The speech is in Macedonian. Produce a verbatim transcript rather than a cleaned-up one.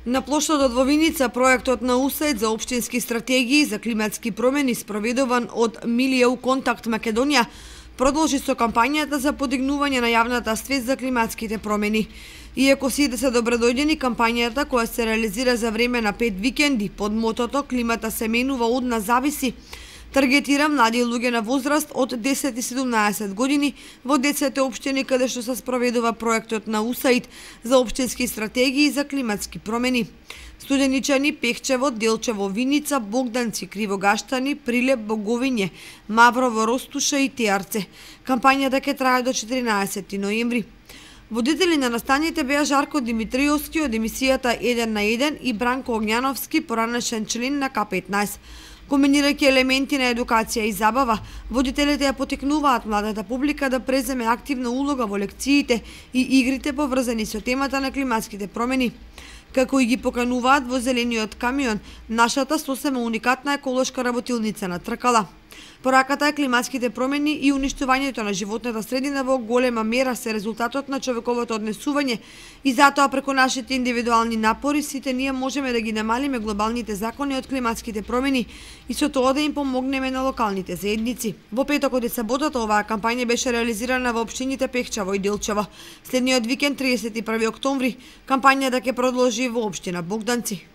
На плоштадот во Виница проектот на УСАИД за општински стратегии за климатски промени спроведуван од Милију Контакт Македонија продолжи со кампањата за подигнување на јавната свест за климатските промени. Иако сите се добродојдени, кампањата која се реализира за време на пет викенди под мотото "Климата се менува, од нас зависи", таргетира млади луѓе на возраст од десет и седумнаесет години во десет општини каде што се спроведува проектот на УСАИД за општински стратегии за климатски промени. Студеничани, Пехчево, Делчево, Виница, Богданци, Кривогаштани, Прилеп, Боговиње, Маврово, Ростуша и Теарце. Кампањата ќе трае до четиринаесети ноември. Водители на настаните беа Жарко Димитриовски од емисијата еден на еден и Бранко Огњановски, поранешен член на К петнаесет. Комбинирајќи елементи на едукација и забава, водителите ја потикнуваат младата публика да преземе активна улога во лекциите и игрите поврзани со темата на климатските промени. Како и ги покануваат во зелениот камион, нашата сосема уникатна еколошка работилница на Тркала. Пораката е климатските промени и уништувањето на животната средина во голема мера се резултатот на човековото однесување и затоа преку нашите индивидуални напори сите ние можеме да ги намалиме глобалните закони од климатските промени и со тоа да им помогнеме на локалните заедници. Во петокот и саботата оваа кампања беше реализирана во општините Пехчево и Делчево. Следниот викенд, триесет и први октомври, кампањата ќе продолжи во општина Богданци.